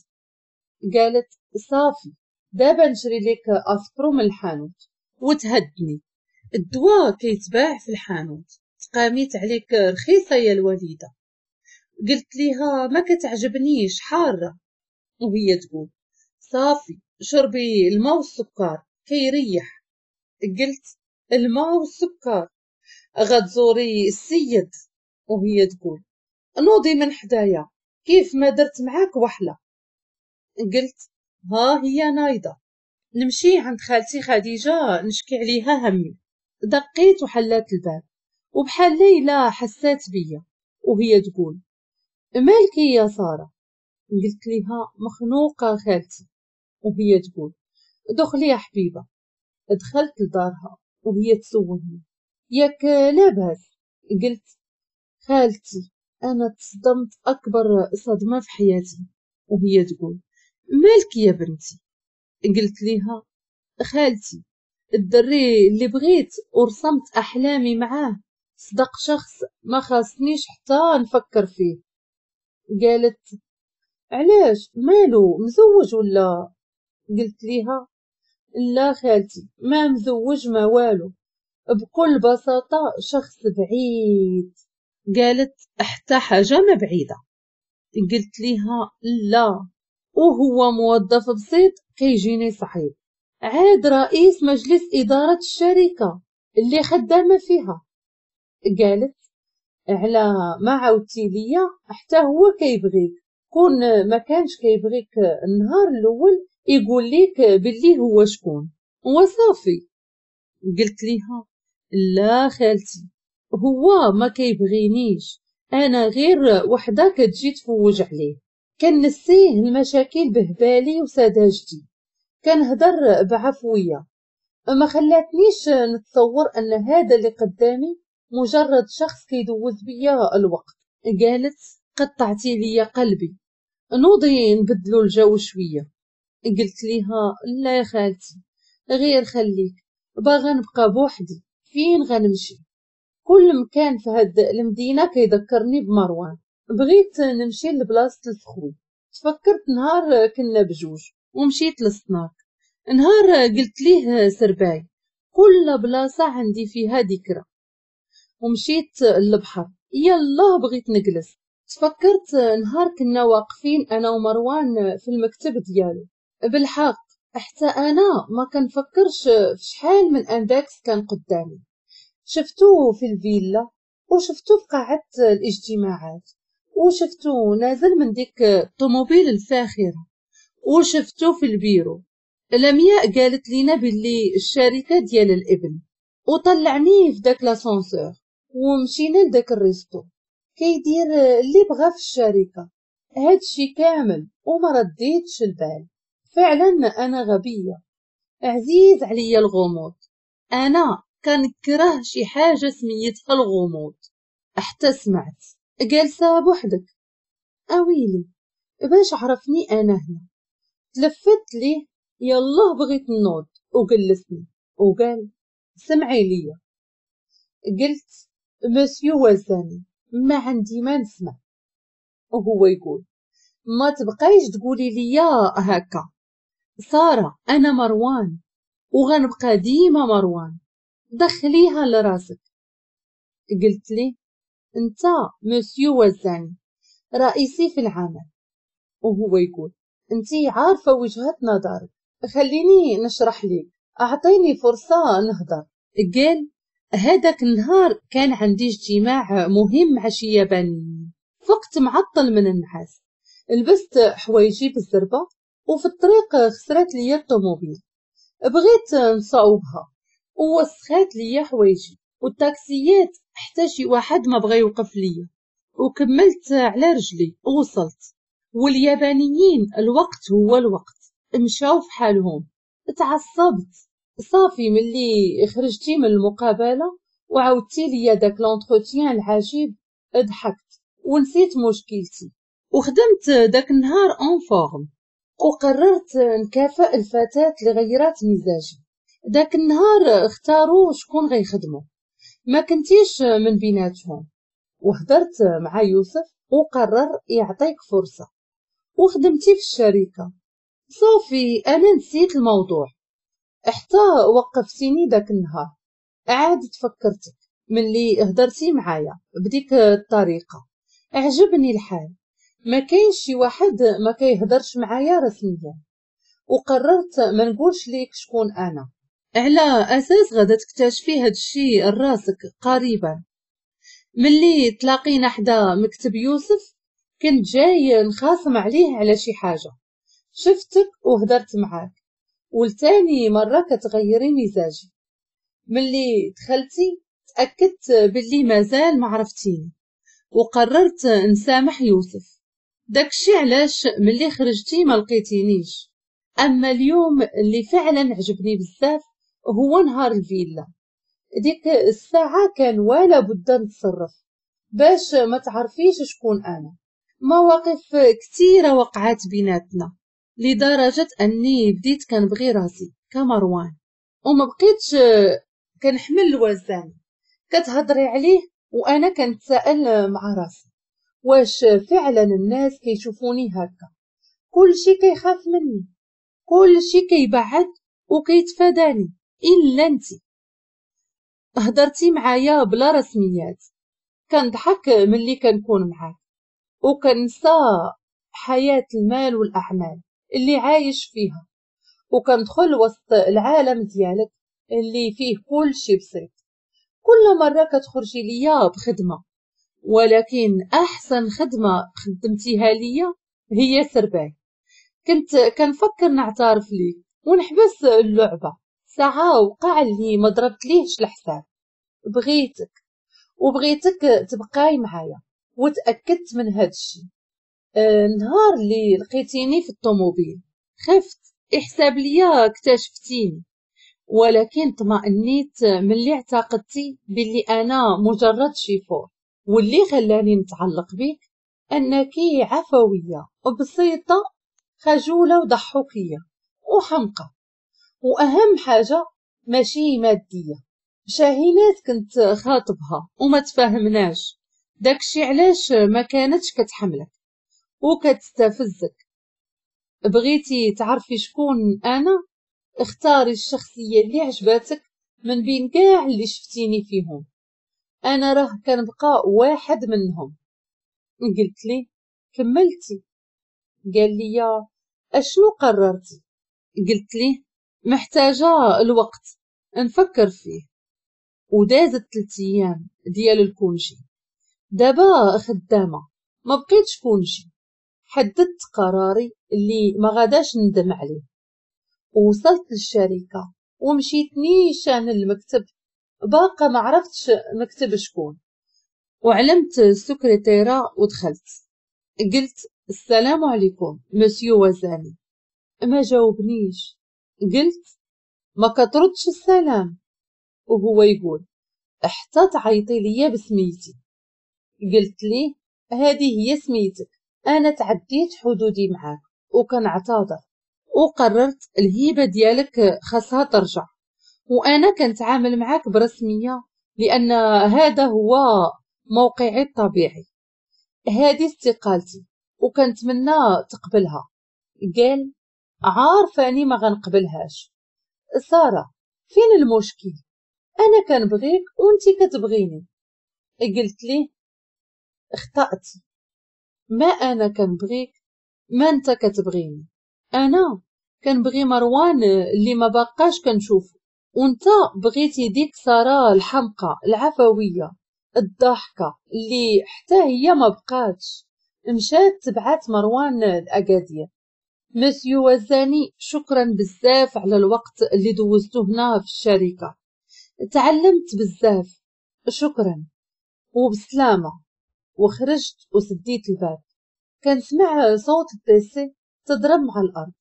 قالت صافي دابا نشري لك اسبرو من الحانوت وتهدني، الدواء كيتباع في الحانوت. تقاميت عليك رخيصة يا الوالدة. قلت ليها ما كتعجبنيش حارة، وهي تقول صافي شربي الماء والسكر كيريح. قلت الماء والسكر غتزوري السيد، وهي تقول نوضي من حدايا كيف ما درت معاك وحله. قلت ها هي نايضه، نمشي عند خالتي خديجة نشكي عليها همي. دقيت وحلات الباب، وبحال ليلى حسات بيا، وهي تقول مالكي يا ساره؟ قلت لها مخنوقه خالتي، وهي تقول دخلي يا حبيبه. دخلت لدارها وهي تسولني ياك لاباس؟ قلت خالتي انا تصدمت اكبر صدمة في حياتي. وهي تقول مالك يا بنتي؟ قلت لها خالتي الدري اللي بغيت ورسمت احلامي معاه صدق شخص ما خاصنيش حتى نفكر فيه. قالت علاش مالو مزوج ولا؟ قلت لها لا خالتي ما مزوج ما والو، بكل بساطة شخص بعيد. قالت حتى حاجة ما بعيدة. قلت لها لا، وهو موظف بسيط كيجيني صعيب، عاد رئيس مجلس إدارة الشركة اللي خدامة فيها. قالت على ما عاودتي ليا حتى هو كيبغيك، كون ما كانش كيبغيك النهار الأول يقول لك باللي هو شكون وصافي. قلت لها لا خالتي هو ما كيبغينيش، انا غير وحده كتجي تفوج عليه، كنسيه المشاكل بهبالي وسذاجتي، كنهضر بعفويه، ما خلاتنيش نتصور ان هذا اللي قدامي مجرد شخص كيدوز بيا الوقت. قالت قطعتي لي قلبي، نوضي نبدلو الجو شوية. قلت لها لا يا خالتي غير خليك، باغا نبقى بوحدي، فين غنمشي؟ كل مكان في هاد المدينة كيذكرني بمروان، بغيت نمشي لبلاصه الفخوي. تفكرت نهار كنا بجوج ومشيت للسناك، نهار قلت ليه سرباي كل بلاصة عندي فيها ذكرى. ومشيت للبحر، يلا بغيت نجلس. تفكرت نهار كنا واقفين انا ومروان في المكتب ديالو، بالحق حتى انا ما كنفكرش في شحال من index كان قدامي. شفتو في الفيلا، وشفتو في قاعة الاجتماعات، وشفتو نازل من ديك الطوموبيل الفاخرة، وشفتو في البيرو. لمياء قالت لينا باللي الشركة ديال الابن، وطلعني في داك l'ascenseur ومشينا لداك ال resto كيدير اللي بغا في الشركة. هادشي كامل وما رديتش البال. فعلا انا غبية، عزيز عليا الغموض، انا كنكره شي حاجة سميتها الغموض. حتى سمعت جالسة بوحدك، اويلي باش عرفني انا هنا. تلفت ليه يلا بغيت نوض وجلسني وقال سمعي ليا. قلت مسيو وزاني ما عندي ما نسمع. وهو يقول ما تبقايش تقولي ليا هكا سارة، انا مروان وغنبقى ديما مروان، دخليها لراسك. قلت لي انت مسيو وزاني رئيسي في العمل. وهو يقول انتي عارفة وجهة نظرك، خليني نشرح لك، اعطيني فرصة نهضر. قال هذاك النهار كان عندي اجتماع مهم مع شي يابانيين، فقت معطل من النحاس، لبست حوايجي بالزربة، وفي الطريق خسرت لي الطوموبيل، بغيت نصاوبها ووسخات لي حوايجي، والتاكسيات حتى شي واحد ما بغى يوقف ليا، وكملت على رجلي ووصلت. واليابانيين الوقت هو الوقت، مشاو في حالهم. تعصبت صافي ملي خرجتي من المقابلة وعاودتي لي داك l'entretien العجيب، ضحكت ونسيت مشكلتي وخدمت داك النهار en forme، وقررت نكافئ الفتاة اللي غيرات مزاجي. داك النهار اختاروا شكون غيخدموا، ما كنتيش من بيناتهم، وهدرت مع يوسف وقرر يعطيك فرصة وخدمتي في الشركة. صافي انا نسيت الموضوع حتى وقفتيني داك النهار، عاد تفكرتك ملي هضرتي معايا بديك الطريقة، عجبني الحال. ما كاينش شي واحد ما كيهضرش معايا رسميا، وقررت ما نقولش ليك شكون انا، على اساس غادا تكتشفي هاد الشيء راسك قريبا. ملي تلاقينا حدا مكتب يوسف كنت جاي نخاصم عليه على شي حاجة، شفتك وهدرت معاك، والتاني مرة كتغيري مزاجي. ملي دخلتي تاكدت باللي مازال ما عرفتيني، وقررت نسامح يوسف. داكشي علاش ملي خرجتي ما لقيتينيش. اما اليوم اللي فعلا عجبني بزاف هو نهار الفيلا. ديك الساعة كان ولا بد نتصرف باش ما تعرفيش شكون انا. مواقف كثيرة وقعت بيناتنا لدرجة اني بديت كنبغي راسي كمروان، وما بقيتش كنحمل الوزان. كتهضري عليه وانا كنتساءل مع راسي واش فعلا الناس كيشوفوني هكا. كلشي كيخاف مني، كلشي كيبعد وكيتفاداني الا انتي. هضرتي معايا بلا رسميات، كنضحك ملي كنكون معاك، وكنسى حياة المال والأعمال اللي عايش فيها، وكندخل وسط العالم ديالك اللي فيه كل شي بسيط. كل مرة كتخرجي ليا بخدمة، ولكن أحسن خدمة خدمتيها ليا هي سرباي. كنت كنفكر نعترف ليك ونحبس اللعبة، ساعة وقع اللي ما ضربت ليهش الحساب. بغيتك وبغيتك تبقاي معايا، وتأكدت من هذا الشيء. النهار اللي لقيتيني في الطوموبيل خفت احساب ليا اكتشفتيني، ولكن طمأنيت ملي اعتقدتي باللي انا مجرد شيفور. واللي خلاني نتعلق بك انك عفوية وبسيطة، خجولة وضحوكيه وحمقى، واهم حاجة ماشي مادية. شاهينات كنت خاطبها وما تفاهمناش، داكشي علاش ما كانتش كتحملك وكتستفزك. بغيتي تعرفي شكون انا؟ اختاري الشخصية اللي عجباتك من بين كاع اللي شفتيني فيهم، انا راه كنبقى واحد منهم. قلت لي كملتي؟ قال لي اشنو قررتي؟ قلت لي محتاجه الوقت نفكر فيه. ودازت 3 ايام ديال ال congé. دابا خدامه ما بقيتش congé. حددت قراري اللي ما غاداش ندم عليه. وصلت للشركة ومشيت نيشان للمكتب، باقا ما عرفتش مكتب شكون، وعلمت السكرتيره ودخلت. قلت السلام عليكم مسيو وزاني. ما جاوبنيش. قلت ما كتردش السلام، وهو يقول حتى تعيطي ليا بسميتي. قلت ليه هذه هي سميتك، انا تعديت حدودي معاك وكنعتذر، وقررت الهيبة ديالك خاصها ترجع، وانا كنتعامل معاك برسميه لان هذا هو موقعي الطبيعي. هذه استقالتي وكنتمنى تقبلها. قال عارفاني ما غنقبلهاش. ساره فين المشكل؟ انا كنبغيك وانتي كتبغيني. قلت ليه اخطأتي، ما انا كنبغيك ما انت كتبغيني، انا كنبغي مروان اللي ما بقاش كنشوفو، وانت بغيتي ديك ساره الحمقى العفوية الضحكة اللي حتى هي ما بقاتش، مشات تبعات مروان لاكادير. مسيو وزاني شكرا بزاف على الوقت اللي دوزته هنا في الشركة، تعلمت بزاف، شكرا وبسلامه. وخرجت وسديت الباب. كنسمع صوت ال PC تضرب مع الارض،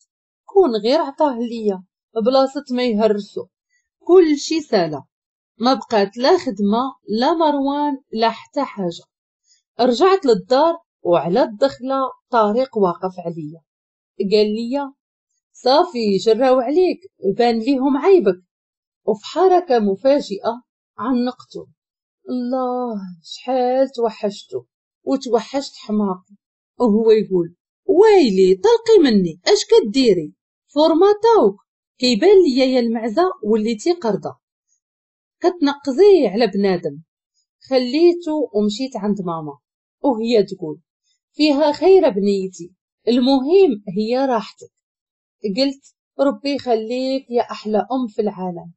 كون غير عطاه ليا بلاصة ما يهرسو. كل شي سالا، ما بقات لا خدمة لا مروان لا حتى حاجة. رجعت للدار وعلى الدخلة طارق واقف عليا. قال لي صافي جراو عليك، بان ليهم عيبك. وفي حركة مفاجئة عنقته. الله شحال توحشته وتوحشت حماقي. وهو يقول ويلي طلقي مني، اش كديري؟ فورماتاوك كيبان ليا يا المعزه وليتي قردة كتنقزي على بنادم. خليته ومشيت عند ماما، وهي تقول فيها خير بنيتي، المهم هي راحتك. قلت ربي يخليك يا أحلى أم في العالم.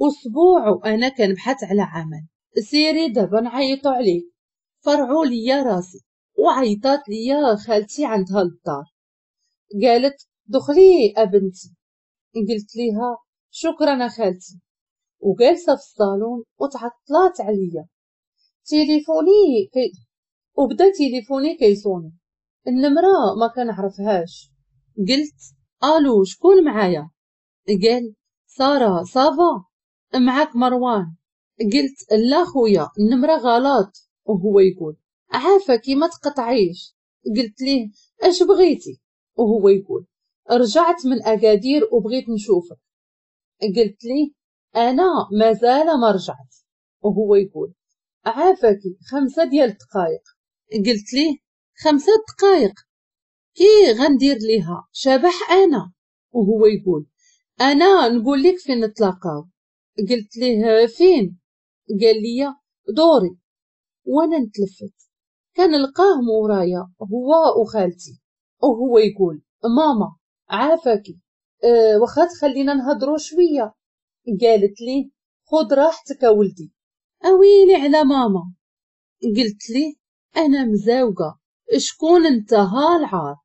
أسبوع وأنا كنبحث على عمل، سيري دابا نعيطوا عليك. فرعوا ليا راسي وعيطات ليا خالتي عندها للدار، قالت دخلي أبنتي. قلت ليها شكرا خالتي، وجالسه في الصالون وتعطلات عليا. تليفوني وبدا تليفوني كيصوني، النمرة ما كنعرفهاش. قلت الو شكون معايا؟ قال ساره ça va معاك مروان. قلت لا خويا النمرة غلط. وهو يقول عافاكي ما تقطعيش. قلت ليه اش بغيتي؟ وهو يقول رجعت من اكادير وبغيت نشوفك. قلت ليه انا مازال ما رجعت. وهو يقول عافاكي 5 ديال الدقائق. قلت ليه 5 دقائق كي غندير ليها شبح انا؟ وهو يقول انا نقول لك فين نتلاقاو. قلت ليه فين؟ قال لي دوري. وانا نتلفت كان لقاه مورايا هو وخالتي، وهو يقول ماما عافاكي واخا تخلينا نهضروا شوية. قالت لي خذ راحتك ولدي. اويلي على ماما. قلت لي انا مزاوقه، شكون انت ها العار؟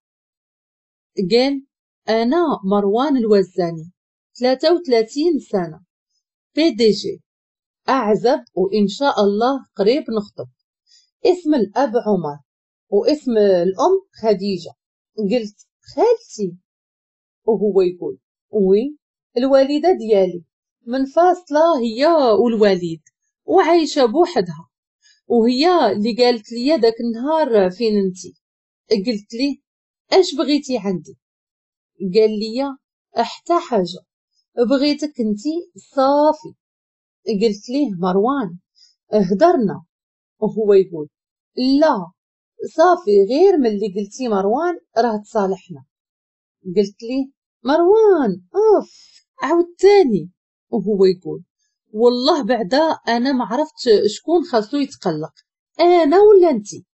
قال انا مروان الوزاني، 33 سنة، PDG، اعزب وان شاء الله قريب نخطب. اسم الاب عمر واسم الام خديجة. قلت خالتي؟ وهو يقول oui الوالدة ديالي منفاصله هي والوالد وعايشة بوحدها، وهي اللي قالت لي داك النهار فين انتي. قلت لي اش بغيتي عندي؟ قال لي حتى حاجة، بغيتك انتي صافي. قلت ليه مروان هدرنا. وهو يقول لا صافي غير من اللي قلتي مروان راه تصالحنا. قلت ليه مروان اوف عاودتاني. وهو يقول والله بعدا انا ما عرفت شكون خاصو يتقلق، انا ولا انتي؟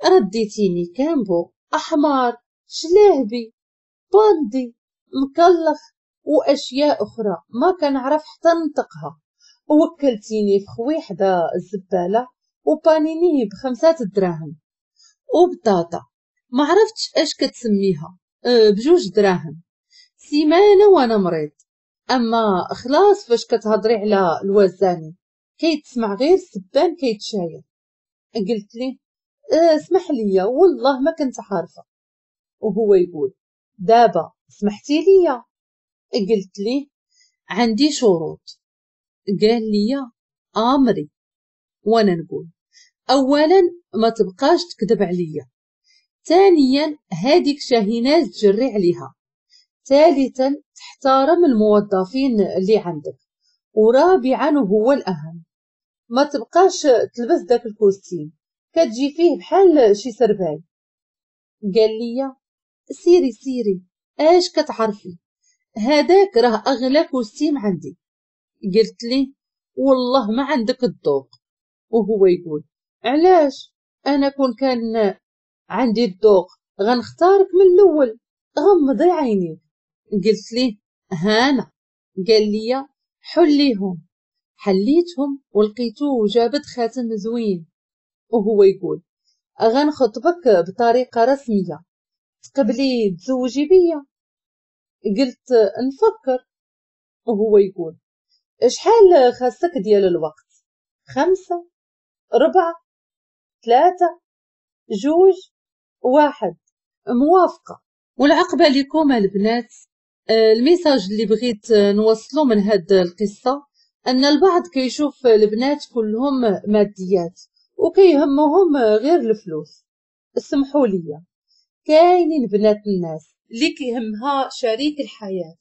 رديتيني كامبو احمر شلاهبي باندي مكلخ واشياء اخرى ما كنعرف حتى ننطقها، وكلتيني في خوي حدا الزبالة وبانيني ب5 دراهم وبطاطا ما عرفتش اش كتسميها ب2 دراهم. سيمانه وانا مريض. اما خلاص فاش كتهضري على الوزاني كيتسمع غير السبان كيتشاير. قلت لي اسمح لي والله ما كنت عارفه. وهو يقول دابا سمحتي لي؟ قلت لي عندي شروط. قال لي امري. وانا نقول اولا ما تبقاش تكذب عليا، ثانيا هذيك شاهيناز تجري عليها، ثالثا تحترم الموظفين اللي عندك، ورابعا وهو الاهم ما تبقاش تلبس داك ال costume كتجي فيه بحال شي سرباي. قال لي سيري سيري اش كتعرفي، هذاك راه اغلى costume عندي. قلت لي والله ما عندك الذوق. وهو يقول علاش انا كون كان عندي الذوق غنختارك من الاول، غمضي عينيك. قلت ليه هانا. قال لي حليهم. حليتهم ولقيتو جابت خاتم زوين. وهو يقول غنخطبك بطريقة رسمية، تقبلي تزوجي بيا؟ قلت نفكر. وهو يقول شحال خاصك ديال الوقت؟ 5 4 3 2 1. موافقة. والعقبه لكم البنات. ال message اللي بغيت نوصله من هاد القصة ان البعض كيشوف البنات كلهم ماديات وكيهمهم غير الفلوس. اسمحوا لي، كاينين بنات الناس اللي كيهمها شريك الحياة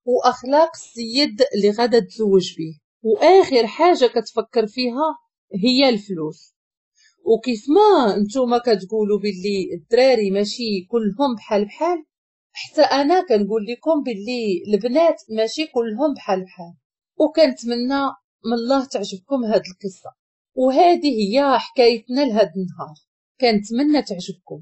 واخلاق السيد اللي غادا تزوج به، واخر حاجة كتفكر فيها هي الفلوس. وكيف ما نتوما كتقولوا باللي الدراري ماشي كلهم بحال بحال، حتى انا كنقول لكم باللي البنات ماشي كلهم بحال بحال. وكنتمنى من الله تعجبكم هاد القصة، وهذه هي حكايتنا لهذا النهار، كنتمنى تعجبكم.